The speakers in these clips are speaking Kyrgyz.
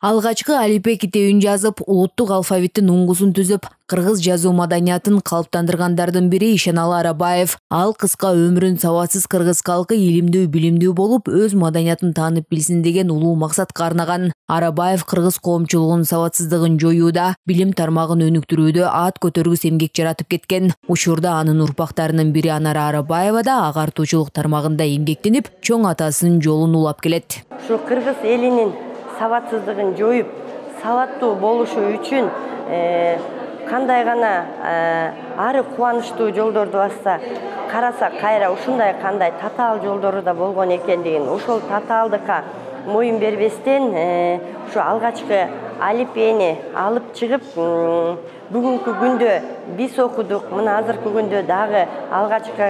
Алгачкы алипе китебин жазып, улуттук алфавиттин уңгусун түзүп, кыргыз жазуу маданиятын калыптандыргандардын бири Ишеналы Арабаев. Ал кыска өмүрүн сабатсыз кыргыз калкы илимдүү, билимдүү болуп, өз маданиятын таанып билсин деген улуу максатка арнаган. Арабаев кыргыз коомчулугунун сабатсыздыгын жоюуда, билим тармагын өнүктүрүүдө ат көтөргүс эмгек жаратып кеткен. Учурда анын урпактарынын бири Анара Арабаева да агартуучулук тармагында эмгектенип, чоң атасынын жолун улап келет. Ушу кыргыз элинин сабатсыздыгын жоюп, сабаттуу болушу үчүн кандай гана ары кубанычтуу жолдорду басса, караса кайра ушундай кандай татаал жолдору да болгон экендигин, ошол татаалдыкка моюн бербестен ушу алгачкы алипени алып чыгып, бүгүнкү күндө биз окудук, мына азыркы күндө дагы алгачкы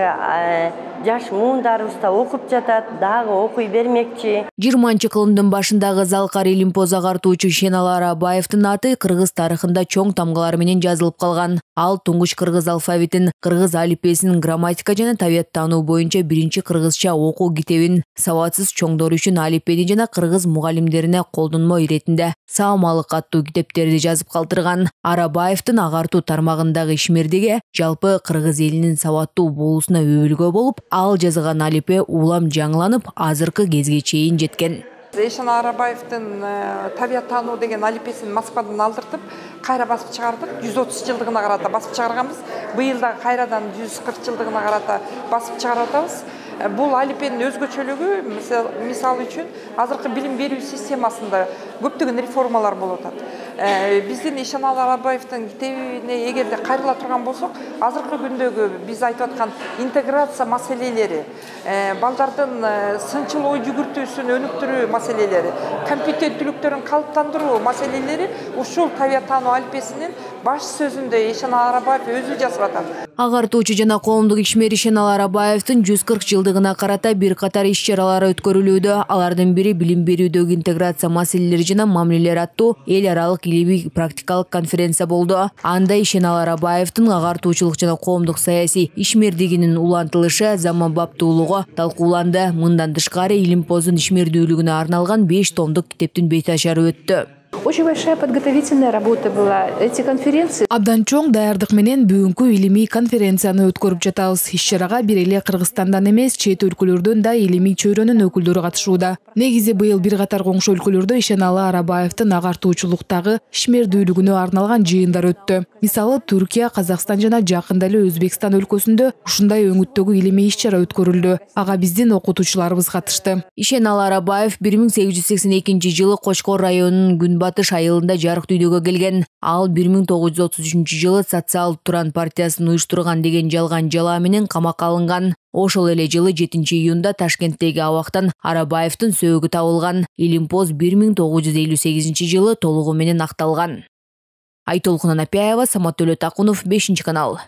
жаш муундарыбыз да окуп жатат, дагы окуй бермекчи. 20-кылымдын башындагы залкар илимпоз агартуучу Ишеналы Арабаевдин аты кыргыз тарыхында чоң тамгалар менен жазылып калган. Ал туңгуч кыргыз алфавитин, кыргыз алипесинин грамматика жана табияттануу боюнча биринчи кыргызча окуу китебин, сабатсыз чоңдор үчүн алипени жана кыргыз мугалимдерине колдонмо иретинде саамалык аттуу китептерди жазып калтырган. Арабаевдин агартуу тармагындагы ишмердиги жалпы кыргыз элинин сабаттуу болуусуна өбөлгө болуп, ал жазган алипе улам жаңыланып, азыркы кезге чейин жеткен. Ишеналы Арабаевдин табияттануу деген алипесин Москвадан алдыртып, кайра басып чыгардык. 130 жылдыгына карата басып чыгарганбыз. Быйыл да кайрадан 140 жылдыгына карата басып чыгарып атабыз. Бул алипенин өзгөчөлүгү, мисалы үчүн, азыркы билим берүү системасында көптөгөн реформалар болуп атат. Биздин Ишеналы Арабаевдин китебине эгерде кайрыла турган болсок, азыркы күндөгү биз айтып аткан интеграция маселелери, балдардын сынчыл ой жүгүртүүсүн өнүктүрүү маселелери, компетенттүүлүктөрүн калыптандыруу маселелери ушул табияттануу алипесинин баш сөзүндө Ишеналы Арабаев өзү жазып атат. Агартуучу жана коомдук ишмер Ишеналы Арабаевдин 140 жылдыгына карата бир катар иш-чаралар өткөрүлүүдө. Алардын бири билим берүүдөгү интеграция маселелери жана мамилелер аттуу эл аралык илимий практикалык конференция болду. Анда Ишеналы Арабаевдин агартуучулук жана коомдук саясий ишмердигинин улантылышы, заманбаптуулугу талкууланды. Мындан тышкары илимпоздун ишмердүүлүгүнө арналган 5 томдук китептин бет ашары өттү. Очень большая подготовительная работа была. Эти конференции. Абдан чоң даярдык менен бүгүнкү илимий конференцияны өткөрүп жатабыз. Иш-чарага бир эле Кыргызстандан эмес, чет өлкөлөрдөн да илимий чөйрөнүн өкүлдөрү катышууда. Негизи быйыл бир катар коңшу өлкөлөрдө Ишеналы Арабаевдин агартуучулуктагы ишмердүүлүгүнө арналган жыйындар өттү. Мисалы, Түркия, Казакстан жана жакында эле Өзбекстан өлкөсүндө ушундай өңүттөгү илимий иш-чара өткөрүлдү. Ага биздин окутуучуларыбыз катышты. Ишеналы Арабаев 1882 Кочкор районунун Күнбатыш айылында жарык дүйнөгө келген. Ал 1933 Социал Туран партиясын уюштурган деген жалган жала менен камакка алынган. Ошол эле жылы 7-июнда Ташкенттеги абактан Арабаевдин сөөгү табылган. Илимпоз 1958 толугу менен акталган. Айтолкун Анапяева, Самат Төлөтакунов, 5-канал.